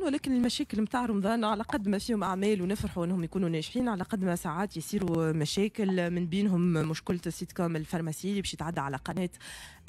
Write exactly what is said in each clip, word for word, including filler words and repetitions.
رمضان، ولكن المشاكل نتاع رمضان على قد ما فيهم اعمال ونفرحوا انهم يكونوا ناجحين، على قد ما ساعات يصيروا مشاكل، من بينهم مشكلة السيت كوم الفارماسي اللي باش يتعدى على قناة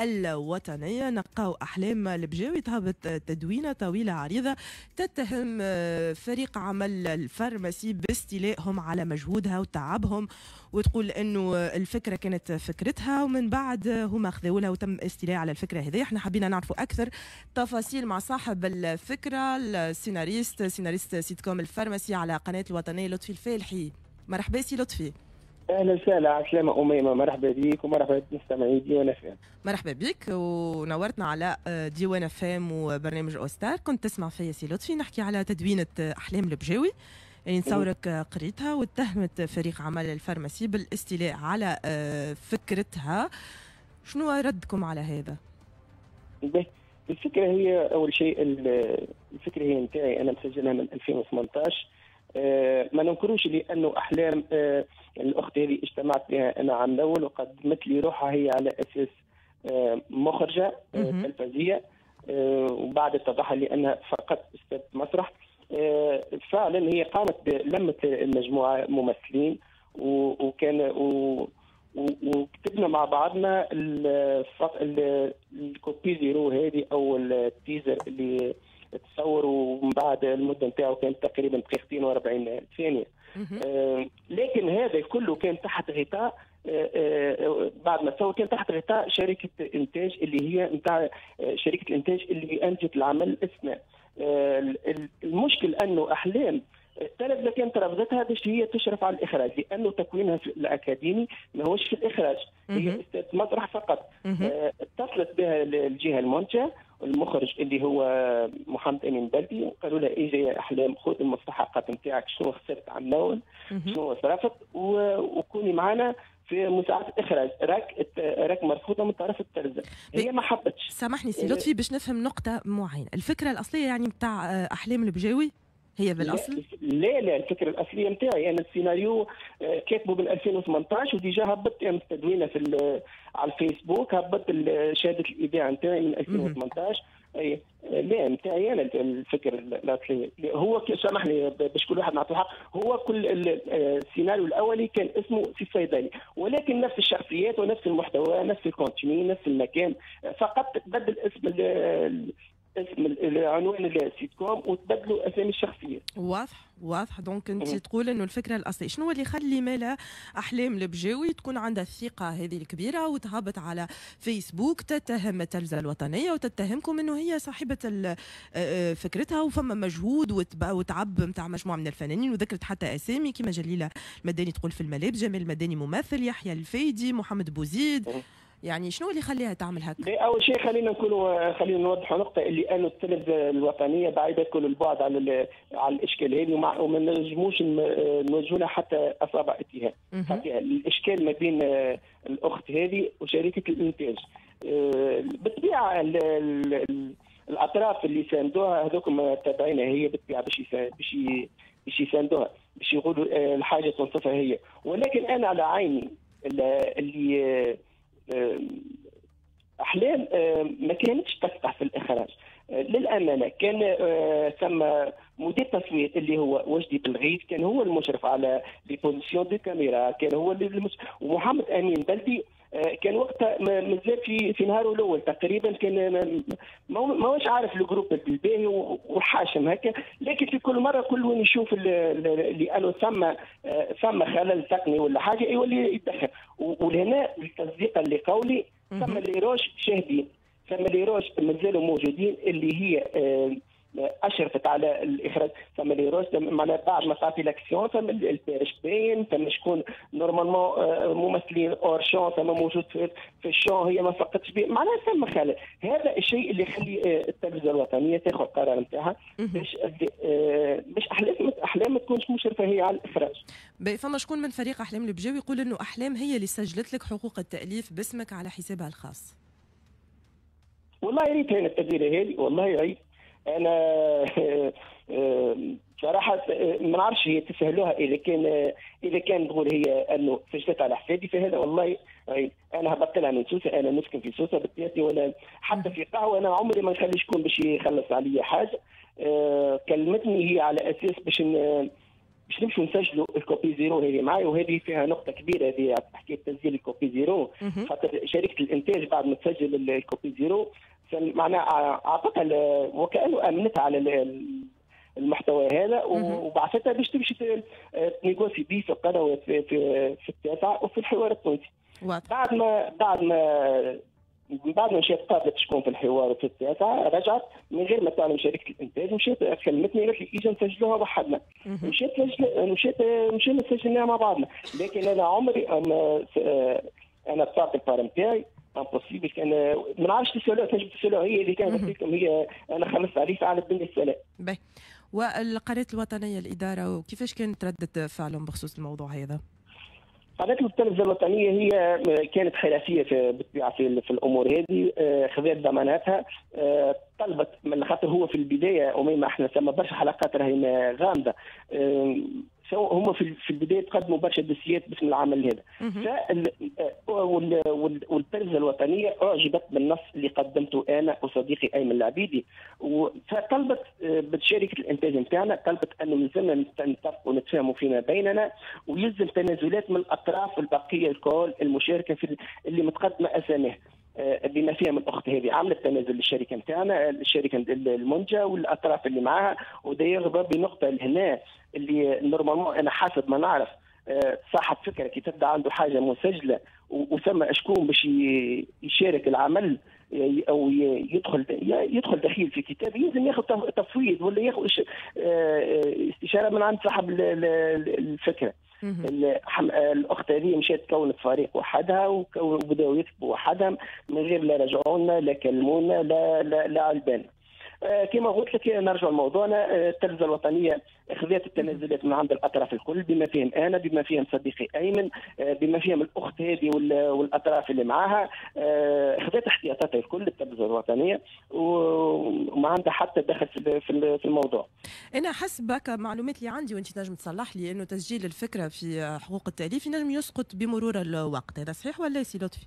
الوطنيه. نلقاو احلام البجاوي تهبط تدوينه طويلة عريضة تتهم فريق عمل الفارماسي باستيلائهم على مجهودها وتعبهم، وتقول انه الفكرة كانت فكرتها ومن بعد هما خذوا لها وتم استيلاء على الفكرة هذه. احنا حبينا نعرفوا اكثر تفاصيل مع صاحب الفكره، السيناريست، سيناريست سيت كوم الفارماسي على قناة الوطنيه، لطفي الفالحي. مرحبا سي لطفي. اهلا وسهلا، عسلامة أميمة، مرحبا بك ومرحبا بمستمعي ديوان اف ام. مرحبا بك ونورتنا على ديوان اف ام وبرنامج اوستار. كنت تسمع فيا سي لطفي نحكي على تدوينة احلام البجاوي يعني نتصورك قريتها، واتهمت فريق عمل الفارماسي بالاستيلاء على فكرتها. شنو ردكم على هذا؟ الفكرة هي أول شيء الفكرة هي نتاعي أنا مسجلها من ألفين وثمانطاش. ما ننكروش لأنه أحلام الأخت هذه اجتمعت بها أنا عام الأول وقدمت لي روحها هي على أساس مخرجة تلفزية، وبعد اتضح لي أنها فقط أستاذ مسرح. فعلا هي قامت بلمة المجموعة ممثلين وكان وكتبنا مع بعضنا ال copie zéro هذه او ال teaser اللي تصور، ومن بعد المدة نتاعو كانت تقريبا دقيقتين وأربعين ثانية. آه لكن هذا كله كان تحت غطاء آه آه بعد ما تصور كان تحت غطاء شركة انتاج اللي هي نتاع شركة الانتاج اللي انتجت العمل اسماء. آه المشكل انه احلام التلفزة كانت رفضتها باش هي تشرف على الاخراج، لانه تكوينها في الاكاديمي ماهوش في الاخراج، هي استاذ مسرح فقط. آه اتصلت بها الجهة المنتجة المخرج اللي هو محمد امين بلدي، قالوا لها اجي يا احلام خذ المستحقات نتاعك، شنو خسرت عام الاول، شنو صرفت، وكوني معنا في مساعدة الاخراج، راك راك مرفوضة من طرف التلفزة. هي ما حبتش. سامحني سي لطفي باش نفهم نقطة معينة، الفكرة الاصلية يعني نتاع احلام البجاوي هي بالاصل؟ لا لا، الفكرة الاصلية نتاعي انا السيناريو كاتبه من ألفين وثمانطاش و déjà هبطت يعني تدوينه في على الفيسبوك، هبطت شهادة الايداع نتاعي من ألفين وثمانطاش. اي لا نتاعي انا الفكرة الاصلية. هو سامحني باش كل واحد نعطيه حق، هو كل السيناريو الاولي كان اسمه سي الصيدلي، ولكن نفس الشخصيات ونفس المحتوى، نفس ال contenu، نفس المكان، فقط تبدل اسم اسم العنوان السيت كوم وتبدلوا اسامي الشخصية. واضح واضح. donc انت تقول انه الفكرة الاصلية، شنو اللي يخلي مالا احلام البجاوي تكون عندها الثقة هذه الكبيرة وتهبط على فيسبوك تتهم التلفزة الوطنية وتتهمكم انه هي صاحبه فكرتها وفما مجهود وتعب نتاع مجموعة من الفنانين، وذكرت حتى اسامي كما جليلة المداني تقول في الملابس، جمال المداني ممثل، يحيى الفايدي، محمد بوزيد. يعني شنو اللي خليها تعمل هكا؟ اول شيء خلينا نكونوا خلينا نوضحوا نقطة اللي انه التلفزة الوطنية بعيدة كل البعد على على الاشكال هذه، وما نجموش نوجهوا لها حتى اصابع اتهام. الاشكال ما بين الاخت هذه وشركه الانتاج. بالطبيعة الاطراف اللي ساندوها هذوك تابعينها هي بالطبيعة باش باش باش يساندوها، باش يقولوا الحاجة تنصفها هي، ولكن انا على عيني اللي احلام ما كانتش تفتح في الاخراج. للامانة كان ثم مدير تصوير اللي هو وجدي بالغيث، كان هو المشرف على les positions de caméra، كان هو اللي ومحمد امين بلدي كان وقتها مازال في في نهاره الاول تقريبا، كان ماهوش عارف ال groupe الباهي وحاشم هكا، لكن في كل مرة كل وين يشوف لانه ثم ثم خلل تقني ولا حاجة يولي يتدخل. ولهنا التصديق اللي قولي ثم les rushs شاهدين، ثم les rushs مازالوا موجودين اللي هي اشرفت على الاخراج، ثم les rushs معناها بعد ما تعطي l'action ثم ال perche باين، ثم شكون normalement ممثلين hors champ ثم موجود في, في ال champ هي ما فقدتش به، معناها ثم خلل. هذا الشيء اللي يخلي التلفزة الوطنية تاخذ القرار نتاعها باش باش احلام احلام ما تكونش مشرفة هي على الاخراج. فما شكون من فريق احلام البجاوي يقول انه احلام هي اللي سجلت لك حقوق التاليف باسمك على حسابها الخاص. والله يا ريت هنا التدبيره هذه، والله يا ريت. انا بصراحة ما نعرفش هي تسهلوها اذا كان اذا كان تقول هي انه سجلت على حسابي فهذا والله انا هبطت لها من سوسة، انا نسكن في سوسة بالتياتي ولا حتى في قهوة، انا عمري ما نخلي شكون باش يخلص عليا حاجة. آه، كلمتني هي على اساس باش باش نمشوا نسجلوا ال copie zéro هذه معي، وهذه فيها نقطة كبيرة هذه حكاية تسجيل ال copie zéro، خاطر شركة الانتاج بعد ما تسجل ال copie zéro معناها اعطتها وكانه امنتها على المحتوى هذا وبعثتها باش تمشي ت négocier بيه في القنوات في, في, في التاسعة وفي الحوار التونسي. بعد ما بعد ما بعد ما مشيت قابلت شكون في الحوار وفي التاسعة، رجعت من غير ما تعلم شركة الانتاج، مشيت كلمتني قالت لي اجا نسجلوها وحدنا. مشيت مشيت مشينا سجلناها مع بعضنا، لكن انا عمري انا انا دفعت ال part نتاعي، impossible كان ما نعرفش تسالوها، تنجم تسالوها هي اللي كانت لكم هي، انا خلصت عليه على الدنيا السلام. باهي، والقناة الوطنية الادارة وكيفاش كانت رده فعلهم بخصوص الموضوع هذا؟ قناة التلفزة الوطنية هي كانت حرفية في بالطبيعة في, في الأمور هذه، خذت ضماناتها، طلبت من خاطر هو في البداية أميمة احنا ثم برشا حلقات راهي غامضة، هم في البداية تقدموا برشا دوسيات باسم العمل هذا، والتلفزه الوطنية اعجبت بالنص اللي قدمته انا وصديقي ايمن العبيدي، فطلبت بشركه الانتاج نتاعنا، طلبت انه لازمنا نتفقوا ونتفاهموا فيما بيننا، ويلزم تنازلات من الاطراف البقية الكل المشاركة في اللي متقدمة اساميها، بما فيها من الاخت هذه عملت تنازل للشركة نتاعنا، الشركة المنتجة والاطراف اللي معاها. وداير بنقطة لهنا اللي normalement انا حسب ما نعرف صاحب فكرة كي تبدا عنده حاجة مسجله وثم شكون باش يشارك العمل او يدخل يدخل دخيل في كتاب، يلزم ياخذ تفويض ولا ياخذ استشاره من عند صاحب الفكرة. الاخت هذه مشات كونت فريق وحدها وبداوا يكتبوا وحدهم من غير لا رجعونا لا كلمونا لا لا, لا علبان. كما قلت لك نرجع لموضوعنا، التلفزة الوطنية خذت التنازلات من عند الاطراف الكل بما فيهم انا، بما فيهم صديقي ايمن، بما فيهم الاخت هذه والاطراف اللي معاها، خذت احتياطاتها الكل التلفزة الوطنية وما عندها حتى دخل في الموضوع. انا حسب معلومات اللي عندي وانت تنجم تصلح لي انه تسجيل الفكرة في حقوق التاليف ينجم يسقط بمرور الوقت، هذا صحيح ولا سي لطفي؟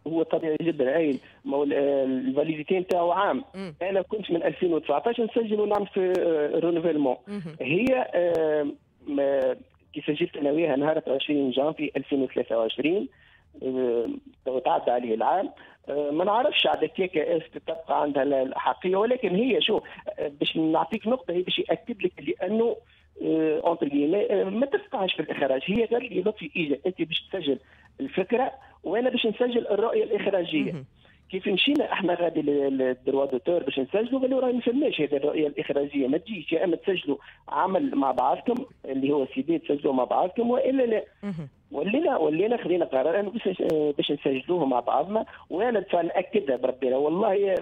هو طبيعي جدا، اي ما هو ال validité نتاعو عام. مم. انا كنت من ألفين وتسعطاش نسجل ونعمل في renouvellement. هي آه كي سجلت انا وياها نهار عشرين جانفي ألفين وثلاثة وعشرين، آه تعدى عليه العام، آه ما نعرفش على كيكا est-ce que تبقى عندها الحقيه، ولكن هي شو باش نعطيك نقطة، هي باش ياكد لك لانه entre guillemets ما تفقهش في الاخراج. هي قالت لي لطفي اجا انت باش تسجل الفكرة وانا باش نسجل الرؤية الاخراجيه. كيف مشينا احنا غادي لل droit d'auteur باش نسجلوا، قالوا راهي ما فماش هذه الرؤية الاخراجيه، ما تجيش، يا اما تسجلوا عمل مع بعضكم اللي هو سي دي تسجلوه مع بعضكم والا لا. ولينا ولينا خذينا قرار انه باش نسجلوه مع بعضنا، وانا ناكدها بربي والله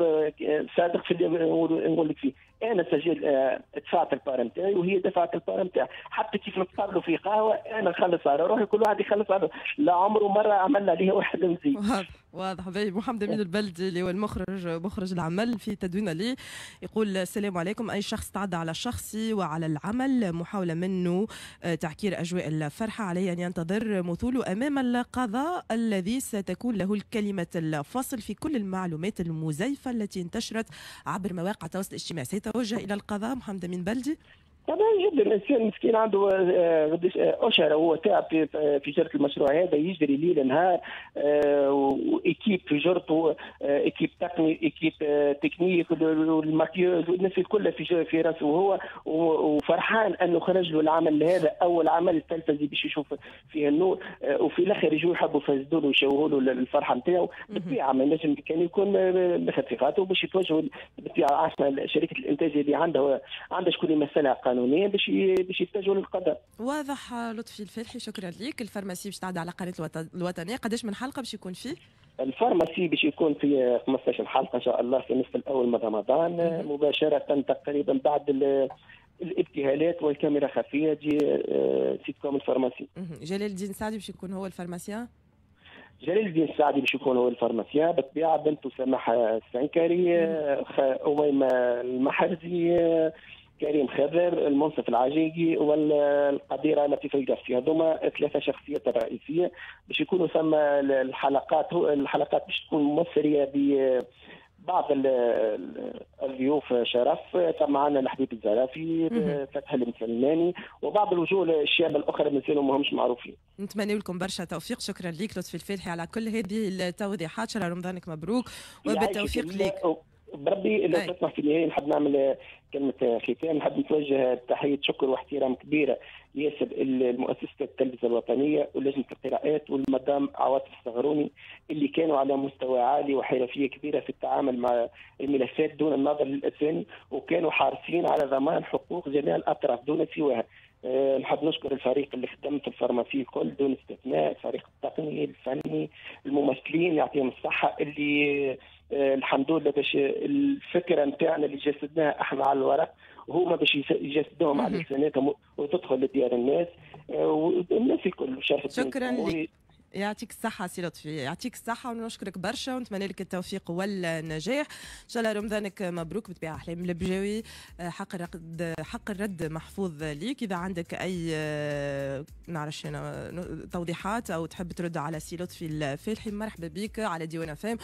صادق في اللي نقول لك فيه، انا سجل دفعت ال part نتاعي وهي دفعت ال part نتاعها، حتى كيف نتقابلوا في قهوة انا نخلص على روحي، كل واحد يخلص على روحي، لا عمره مرة عملنا عليه واحد مزيد. واضح واضح. باهي محمد امين البلدي اللي هو المخرج مخرج العمل في تدوين لي يقول السلام عليكم، اي شخص تعدى على شخصي وعلى العمل محاولة منه تعكير اجواء الفرحة عليه ان ينتظر مثوله امام القضاء الذي ستكون له الكلمة الفصل في كل المعلومات المزيفه التي انتشرت عبر مواقع التواصل الاجتماعي. سيتوجه الى القضاء محمد امين بلدي؟ طبعا جدا، الانسان مسكين عنده قداش اشهر هو تعب في في جرة المشروع هذا، يجري ليل نهار، و équipe في جرته، équipe تقني، équipe technique، وال maquilleuse والناس الكل في في راسه هو، وفرحان انه خرج له العمل هذا، اول عمل تلفزي باش يشوف فيه النور، وفي الاخر يجوا يحبوا يفسدوا له ويشوهوا له الفرحة نتاعو. بالطبيعة ما ينجم كان يكون ماخذ في خاطره باش يتوجهوا بالطبيعة شركة الانتاج اللي عندها عندها شكون يمثلها قانونيا باش باش يتجهوا للقضاء. واضح لطفي الفالحي، شكرا لك. ال pharmacie باش تعدى على قناة الوطنية، قداش من حلقة باش يكون فيه؟ ال pharmacie باش يكون في خمسطاش حلقة ان شاء الله في النصف الاول من رمضان مباشرة تقريبا بعد الابتهالات والكاميرا خفيه تجي sitcom ال pharmacie. جلال الدين سعدي باش يكون هو ال pharmacien؟ جلال الدين السعدي باش يكون هو ال pharmacien، بالطبيعة بنته سماح السنكري، اميمة المحرزي، كريم خضر، المنصف العجيقي، والقديره لطيفة القفصي. هذوما ثلاثة شخصيات رئيسية باش يكونوا ثم الحلقات. الحلقات باش تكون مثريه ب بعض الضيوف شرف، ثم معنا الحبيب الزرافي، فتحي المسلماني، وبعض الوجوه الشابة الاخرى مازالوا ماهمش معروفين. نتمنى لكم برشا توفيق. شكرا لك لطفي الفالحي على كل هذه التوضيحات. شهر رمضانك مبروك وبالتوفيق لك. بربي لو تسمح، في النهاية نحب نعمل كلمة ختام. نحب نتوجه تحية شكر واحترام كبيرة ياسر لمؤسسة التلفزة الوطنية ولجنه القراءات والمدام عواطف الصغروني، اللي كانوا على مستوى عالي وحرفيه كبيرة في التعامل مع الملفات دون النظر للاسامي، وكانوا حارصين على ضمان حقوق جميع الاطراف دون سواها. أه نحب نشكر الفريق اللي خدم في ال pharmacie الكل دون استثناء، الفريق التقني، الفني، الممثلين، يعطيهم الصحه، اللي أه الحمد لله باش الفكرة نتاعنا اللي جسدناها احنا على الورق وهما باش يجسدوهم على لساناتهم وتدخل لديار الناس، أه والناس الكل. شكرا لك، يعطيك الصحة سي لطفي، يعطيك الصحة ونشكرك برشا ونتمنى لك التوفيق والنجاح. إن شاء الله رمضانك مبروك. بالطبيعة أحلام البجاوي، حق الرد حق الرد محفوظ ليك، إذا عندك أي نعرفش أنا توضيحات أو تحب ترد على سي لطفي الفالحي، مرحبا بك على ديوان أف أم.